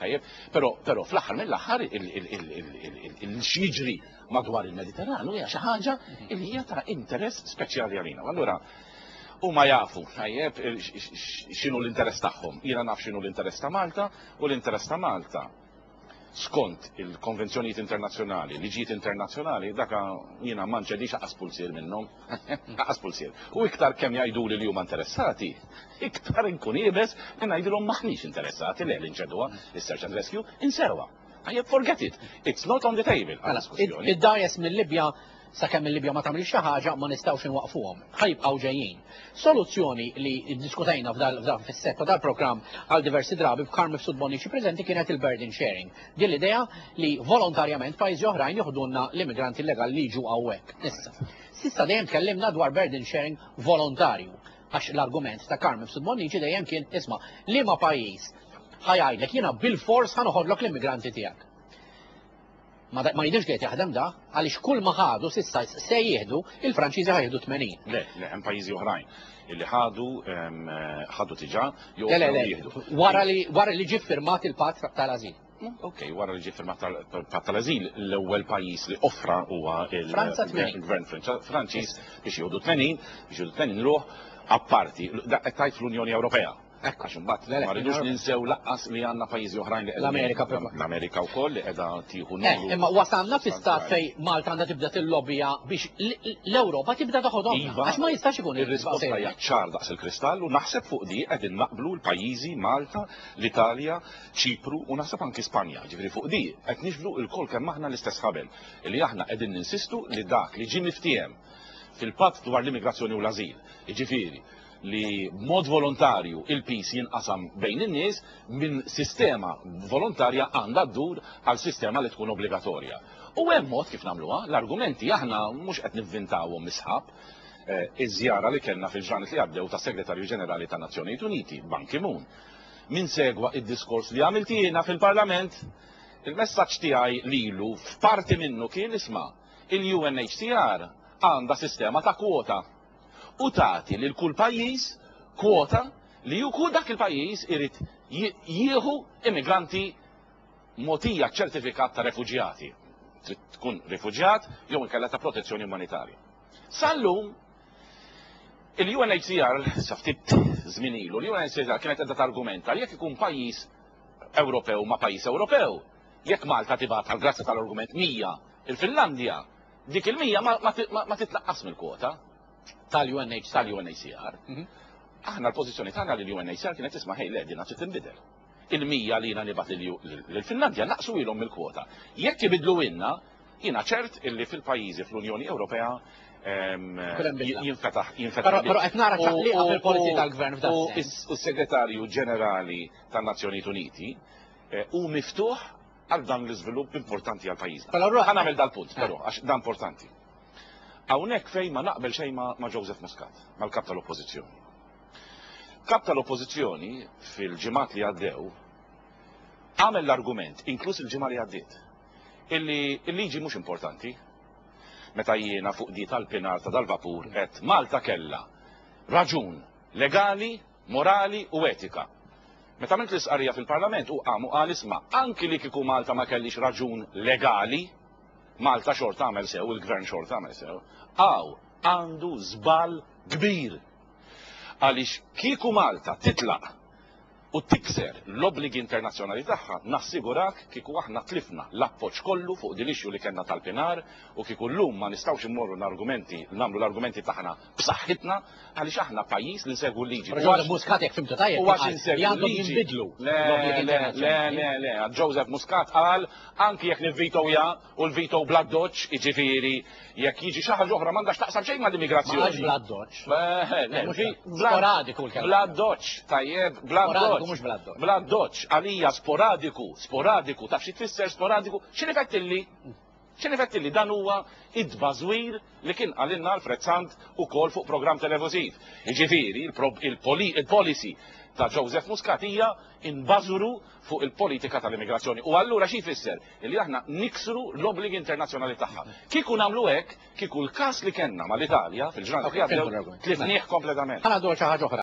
Tajjeb, però però fl-aħħar mill-aħħar il-x'jiġri madwar il-Mediterranu hija xi ħaġa li hija ta' interess speċjali għalina. Allura huma jafu, tajjeb, x'inhu l-interess tagħhom. Jiena naf x'inhu l-interess ta' Malta u l-interess ta' Malta skont il-konvenzjonijiet internazzjonali, liġijiet internazzjonali, daka jiena ma nċedix aqas pulsier minnhom. Aqas pulsier. U iktar kemm jgħiduli li huma interessati, iktar inkun iebes li ngħidilhom maħniex interessati le li nċeduha is-search and rescue, insewha. Tajjeb, forget it. It's not on the table. Mela, id-dajes mill-Libja sakemm il-Libja ma tagħmilx xi ħaġa ma nistgħux inwaqfuhom. Ħajbqgħu ġejjin. Soluzzjoni li ddiskutejna f'dal fis-setta tal-programm għal diversi drabi b'Karm Mifsud Bonnici preżenti kienet il-burden sharing. Din l-idea li volontarjament pajjiżi oħrajn joħdulna l-immigranti illegali li jiġu hawnhekk. Issa, s'issa dejjem tkellimna dwar burden sharing volontarju għax l-argument ta' Karm Mifsud Bonnici dejjem kien isma' liema pajjiż ħa jgħidlek jiena bilfors ħa noħodlok l-immigranti tiegħek. Ma jidhirx li qed jaħdem da, għaliex kull ma ħadu s'issa se jieħdu, il-Franċiżi ħa jieħdu 80. Le, le, hemm pajjiżi oħrajn illi ħadu ħadu diġà jew Le, le, le, jieħdu. Wara li wara li ġie ffirmat il-patt tal-ażil. Ok, wara li ġie ffirmat il-patt tal-ażil, l-ewwel pajjiż li offra huwa il-Gvern Franċiż biex jieħdu 80, biex jieħdu 80 ruħ apparti, qed tgħid fl-Unjoni Ewropea. Hekk għax imbagħad ma rridux ninsew laqqas li għandna pajjiżi oħrajn li L-Amerika l-Amerika wkoll li qiegħda tieħu eh, numru. Imma wasalna fi stat fej Malta għandha tibda tillobija biex l-Ewropa tibda toħodhom. Iva, għax ma jistax ikun ir-risposta hija ċar daqs il-kristall u naħseb fuq di qegħdin naqblu l-pajjiżi Malta, l-Italja, Ċipru u naħseb anki Spanja. Ġifieri fuq di qed nixbdu lkoll kemm aħna l-istess ħabel li aħna qegħdin ninsistu li dak li ġie miftiehem fil-patt dwar l-immigrazzjoni u l-ażil, jiġifieri li b'mod volontarju il-piż jinqasam bejn in-nies minn sistema volontarja għandha ddur għal sistema li tkun obbligatorja. U hemm mod kif nagħmluha, l-argumenti aħna mhux qed nivvintawhom mis-sħab. Eh, iż-żjara li kellna fil-ġranet li għaddew tas-Segretarju Ġenerali tan-Nazzjonijiet Uniti, Ban Ki-moon. Min segwa id-diskors li għamilt jiena fil-Parlament, il-messaġġ tiegħi lilu f'parti minnu kien isma' il-UNHCR għandha sistema ta' kwota u tagħti lil kull pajjiż kwota li hu dak il-pajjiż irid jieħu immigranti mogħtija ċertifikat ta' refuġjati. Trid tkun rifuġjat jew inkella ta' protezzjoni umanitarja. Sal-lum il-UNHCR, sa ftit żmien ilu, l-UNHCR kienet qiegħda targumenta li jekk ikun pajjiż Ewropew ma' pajjiż Ewropew, jekk Malta tibgħat għall-grazzja tal-argument 100 il-Finlandja, Dik il-100 ma titnaqqas mill-kwota. Tal-UNHCR. Tal-UNHCR. Mhm. Aħna l-pożizzjoni tagħna li l-UNHCR kienet tisma' ħej le din trid tinbidel. Il-100 li jiena nibgħat lill-Finlandja naqsu ilhom mill-kwota. Jekk ibidlu ilna, jiena ċert illi fil-pajjiżi fl-Unjoni Ewropea ehm, jinfetaħ jinfetaħ. Però qed nara ċaqliqa fil-policy tal-gvern f'dan. U s-Segretarju Ġenerali tan-Nazzjonijiet Uniti eh, hu miftuħ għal dan l-iżvilupp importanti għal pajjiżna. Mela allura ħa nagħmel dal-punt, eh. però, għax dan importanti. Hawnhekk fejn ma naqbel xejn ma' Joseph Muscat, mal-kap tal-Oppożizzjoni. Kap tal-Oppożizzjoni fil-ġimgħat li għaddew għamel l-argument, inkluż il-ġimgħa li għaddiet, illi l-liġi mhux importanti. Meta jiena fuq di tal-pinar ta' dal-vapur qed Malta kellha raġun legali morali u etika. Meta għamilt l-istqarrija fil-Parlament hu qam u qal isma' anki li kieku Malta ma kellhiex raġun legali, Malta xorta għamel sew, il-Gvern xorta għamel sew. Hawn għandu żball kbir. Għaliex kieku Malta titlaq u tikser l-obbligi internazzjonali tagħha, nassigurak kieku aħna tlifna l-appoġġ kollu fuq din l-issue li kellna tal-Pinar u kieku llum ma nistgħux immorru n-argumenti, nagħmlu l-argumenti tagħna b'saħħitna għaliex aħna pajjiż li nsegwu l-liġi. Però Joseph Muscat jekk fimtu tajjeb U għax insegwu li għandhom l-liġi. jinbidlu Le, l-obbligi le, le, internazzjonali. le, le, Joseph Muscat qal anki jekk nivvitow ja u l-veto bla doċ, jiġifieri jekk jiġi xi ħaġa oħra m'għandha x'taqsam xejn mal-immigrazzjoni. Ma qalx bla doċ. Eh, le, Mhux vi- bla- sporadiku l-kelma. Bla doċ, tajjeb, bla Sporadiku doċ. mhux bla doċ. Bla doċ, għalija sporadiku, sporadiku, taf xi tfisser sporadiku, x'inhi fettilli? X'inhi fettilli dan huwa id-tbażwir li kien qalilna Alfred Sant ukoll fuq programm televiżiv. Jiġifieri, il-policy ta' Joseph Muscat hija inbażwru fuq il-politika tal-immigrazzjoni. U allura xi jfisser? Illi aħna niksru l-obbligi internazzjonali tagħha. Kieku nagħmlu hekk, kieku l-każ li kellna mal-Italja fil-ġranet li għaddew tlifnieh kompletament. Ħa ngħaddu għal xi ħaġa oħra.